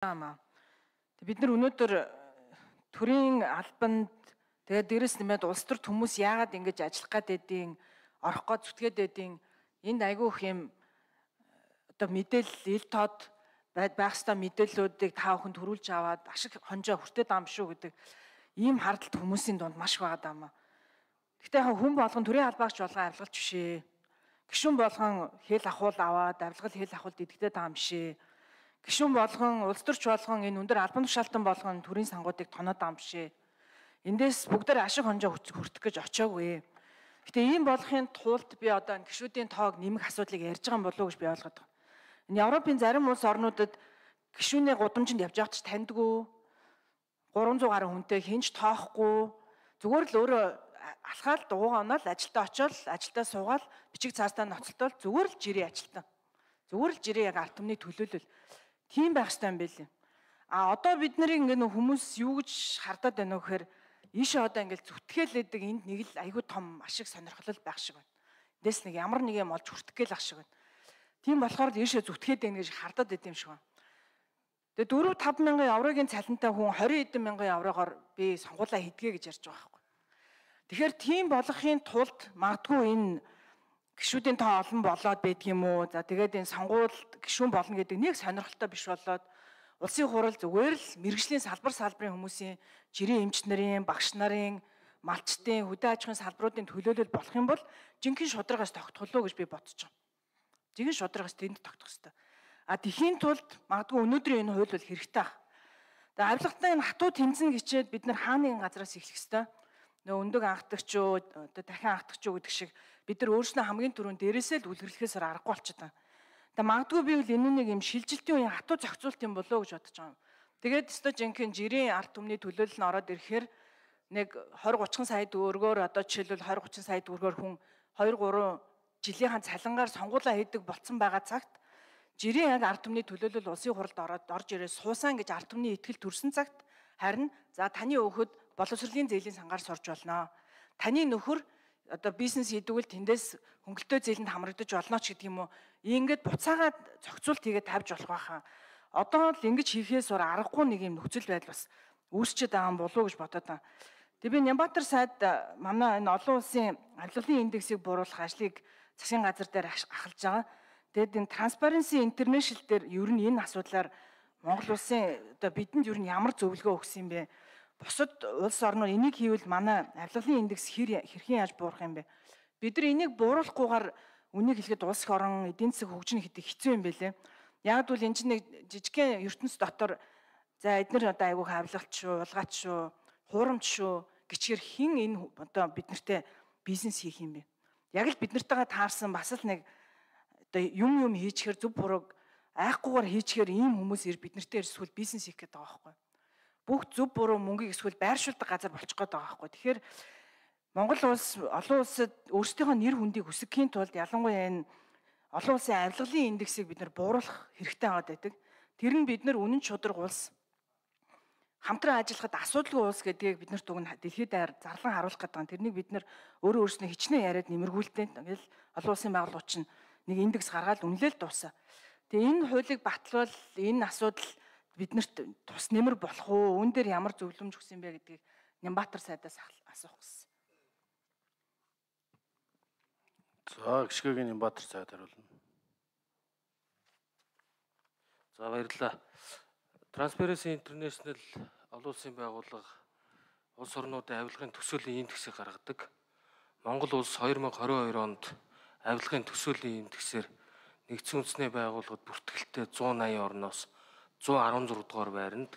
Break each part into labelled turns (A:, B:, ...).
A: Ама. Бид нар өнөөдөр төрийн албанд тэгээд дээрэс нэмээд улс төрт хүмүүс яагаад ингэж ажиллах гэдэг орох гоо зүтгээд байдیں۔ Энд айгүй их юм одоо мэдээлэл ил тод байх ёстой мэдээллүүдийг та бүхэнд төрүүлж аваад ашиг хонжоо хүртээд байгаа юм шүү гэдэг ийм хардлагт хүмүүсийн дунд маш байгаа даа маа. Гэхдээ хүн болгон төрийн албаагч болгон авилгалч бишээ. Гишүүн болгон хэл ахуул аваад авилгал хэл ахуул дидэгдээд байгаа юм бишээ. Гишүүн болгон улс төрч болгон энэ өндөр албан тушаалтан болгон төрийн сангуудыг тоноод байгаа юм бишээ. Эндээс бүгдээр ашиг хонжоо хүртэх гэж очиагүй. Гэтэ ийм болохын тулд би одоо энэ гишүүдийн тоог нэмэх асуудлыг ярьж байгаа юм болов уу гэж би ойлгоод байна. Энэ Европын зарим улс орнуудад гишүүний гудамжинд явж байгач таньдгүй 300 гаруй хүнтэй хинч тоохгүй зүгээр л өөрөө алхаал дуугаа оноод ажилдаа очиод ажилдаа суугаад бичиг цаастаа ноцтол зүгээр л жирийн ажилтан. Зүгээр л жирийн яг ард түмний төлөөлөл. Тийм байх ёстой юм байл. А одоо бид нарыг ингээ хүмүүс юу гэж хардаад байна вэ гэхээр ийшээ одоо ингээл зүтгэлээдэг энд нэг л айгүй том ашиг сонирхол байх шиг байна. Эндээс нэг ямар нэг юм олж хүртэх гээл ах шиг байна. Тийм болохоор ийшээ зүтгээд байна гэж хардаад байд юм шиг байна. Тэгээ 4-5 мянган еврогийн цалинтай хүн 20 хэдэн мянган еврогоор би сонгуулаа хийдгээ гэж ярьж байгаа байхгүй. Тэгэхээр тийм болохын тулд магадгүй энэ гишүүдийн тоо олон болоод байдгийм үү. За тэгээд энэ сонгуульд гишүүн болно гэдэг нэг сонирхолтой биш болоод улсын хурал зүгээр л мэрэгжлийн салбарын хүмүүсийн жирийн эмч нарын, багш нарын, малчтын, хөдөө аж ахуйн салбаруудын төлөөлөл болох юм бол жинхэнэ шударгаас тогтголоо гэж би бодож байна. Жинхэнэ шударгаас тэнд тогтох хэрэгтэй. А тэхийн тулд магадгүй өнөөдрийн энэ хууль бол хэрэгтэй баг. Тэгээ авилгатай энэ хатуу тэмцэн гिचээд бид нар хаа нэгэн газраас эхлэх хэрэгтэй. Нөө өндөг анхдагч юу, одоо дахин анхдагч юу гэдэг шиг бид нар өөрснөө хамгийн түрүүнд дээрээсээ л үлгэрлэхээс аргагүй болчиход байна. Тэгээ магадгүй би бол энэ нэг юм шилжилтийн үеийн хатуу зохицуулт юм болоо гэж бодож байгаа юм. Тэгээд өстой жинхэнэ жирийн ард түмний төлөөлөл нь ороод ирэхээр нэг 20-30 сая төгрөгөөр одоо жишээлбэл 20-30 сая төгрөгөөр хүн 2-3 жилийн цалингаар сонгуулаа хийдэг болцсон байгаа цагт жирийн яг ард түмний төлөөлөл улсын хуралд ороод орж ирээ суусан гэж ард түмний итгэл төрсэн цагт харин за таны өөхөд боловсролын зээлийн сангаар сурж болно. Таны нөхөр одоо бизнес хийдэг бол тэндээс хөнгөлтөө зээлэнд хамрагдаж болно ч гэдэг юм уу. Ингээд буцаагаад зохицуулт хийгээд тавьж болох байхаа. Одоо л ингэж хийхээс өөр аргагүй нэг юм нөхцөл байдал бас үүсчээд байгаа юм болов уу гэж бодоод байна. Тэгээ би Нямбатар сайд манай энэ олон улсын авилгалын индексийг бууруулах ажлыг засгийн газар дээр ахалж байгаа. Тэгээд энэ Transparency International дээр ер нь энэ асуудлаар Монгол улсын одоо бидэнд ер нь ямар зөвлөгөө өгсөн юм бэ? Бусад улс орнууд энийг хийвэл манай авилгалын индекс хэрхэн яаж буурах юм бэ? Бид нар энийг бууруулахгүйгээр үнийг хэлэхэд улс их орон эдийн засаг хөгжинэ гэдэг хэцүү юм байлээ. Яг бол энэ чинь нэг жижигхэн ертөнц дотор за эдгээр одоо айгүйх авилгалч шүү, улгаач шүү, хуурамч шүү гिचгэр хин энэ одоо бид нартэй бизнес хийх юм бэ? Яг л бид нартайгаа таарсан бас л нэг одоо юм хийчихэр зөв бурууг айхгүйгээр хийчихэр ийм хүмүүс бид нартэй ирсгүүл бизнес хийх гэдэг байгаа байхгүй. Бүх зөв буруу мөнгийг эсвэл байршуулдаг газар болчих гээд байгаа байхгүй. Тэгэхээр Монгол улс олон улсад өөрсдийнхөө нэр хүндийг өсгөхийн тулд ялангуяа энэ олон улсын авилгалын индексийг бид нар бууруулах хэрэгтэй байдаг. Тэр нь бид нар үнэн чудраг улс хамтран ажиллахад асуудалгүй улс гэдгийг бид нарт уг нь дэлхийд даяар зарлан харуулах гэдэг. Тэрнийг бид нар өөрөө өөрснөө хичнээн яриад нэмэргүүлдэг. Ингээл олон улсын байгууллагууд чинь нэг индекс гаргаад үнэлэл дуусаа. Тэгээ энэ хуулийг батлвал энэ асуудал биднэрт тус нэмэр болох уу? Үүн дээр ямар зөвлөмж өгсөн бэ гэдгийг Нямбатар сайдаас асуух гэсэн.
B: За гიშгэгийн Нямбатар сайд хариулна. За баярлалаа. Transparency International олон улсын байгууллага улс орнуудын авилгын төсөөлийн индексийг гаргадаг. Монгол улс 2022 онд авилгын төсөөлийн индексээр нэгдсэн үндэсний байгууллагад бүртгэлтэй 180 орноос 116 дугаар байранд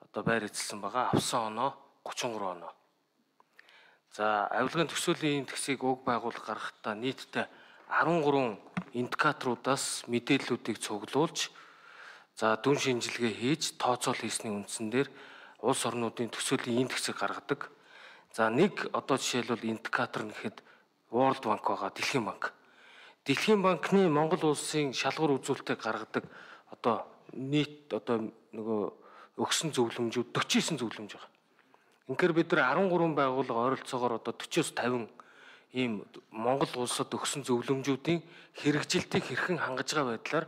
B: одоо байр эзэлсэн байгаа. Авсан оноо 33 оноо. За авилгын төсөөлийн индексийг уг байгууллага гаргахдаа нийтдээ 13 индикаторуудаас мэдээллүүдийг цуглуулж за дүн шинжилгээ хийж тооцоол хийсний үндсэн дээр улс орнуудын төсөөлийн индексийг гаргадаг. За нэг одоо жишээлбэл индикатор гэхэд World Bank байгаа, Дэлхийн банк. Дэлхийн банкны Монгол улсын шалгуур үзүүлэлтийг гаргадаг одоо нийт одоо нөгөө өгсөн зөвлөмжүүд 49 зөвлөмж байгаа. Инхээр бид нар 13 байгууллага ойролцоогоор одоо 40-с 50 ийм Монгол улсад өгсөн зөвлөмжүүдийн хэрэгжилтийг хэрхэн хангаж байгаа байдлаар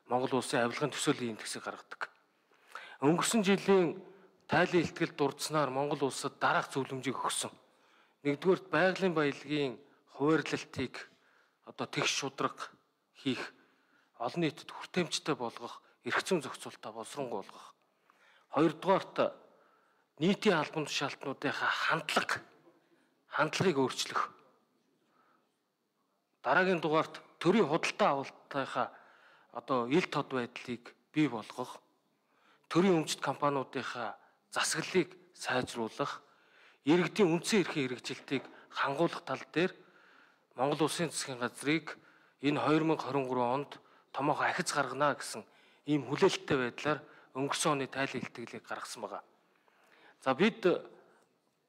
B: Монгол улсын авилгын төсөөлийн индексийг гаргадаг. Өнгөрсөн жилийн тайлан илтгэл дурдсанаар Монгол улсад дараах зөвлөмжийг өгсөн. Нэгдүгээрт байгалийн баялагын хуваарлалтыг одоо тэгш шударга хийх, олон нийтэд хүртээмжтэй болгох, эрх зүйн зохицуулалтаа боловсронгуулгах. Хоёрдугаарт нийтийн албан тушаалтнуудынхаа хандлагыг өөрчлөх. Дараагийн дугаарт төрийн худалдаа авалтынхаа одоо ил тод байдлыг бий болгох, төрийн өмчт компаниудынхаа засаглалыг сайжруулах, иргэдийн үндсэн эрхийн хэрэгжилтийг хангуулах тал дээр Монгол Улсын засгийн газрыг энэ 2023 онд томоохон ахиц гаргана гэсэн ийм хүлээлттэй байдлаар өнгөрсөн оны тайлан илтгэлийг гаргасан байна. За бид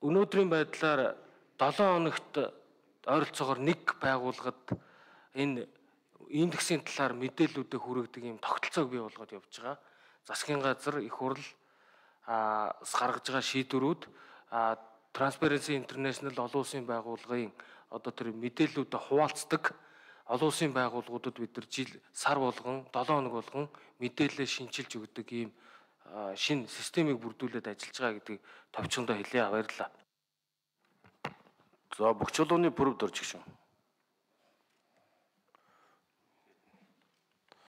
B: өнөөдрийн байдлаар 7 хоногт ойролцоогоор нэг байгууллагад энэ индексийн талаар мэдээллүүдийг хүргэдэг ийм тогтолцоог бий болгоод явж байгаа. Засгийн газар, их хурл гаргаж байгаа шийдвэрүүд Transparency International олон улсын байгууллагын одоо тэр мэдээллүүдэд хуваалцдаг олон улсын байгууллагуудад бид нар сар болгон 7 хоног болгон мэдээлэл шинжилж өгдөг ийм шинэ системийг бүрдүүлээд ажиллаж байгаа гэдгийг товчхондоо хэлье. Баярлалаа.
C: За, бүх чулууны бүрв дөрж гişүн.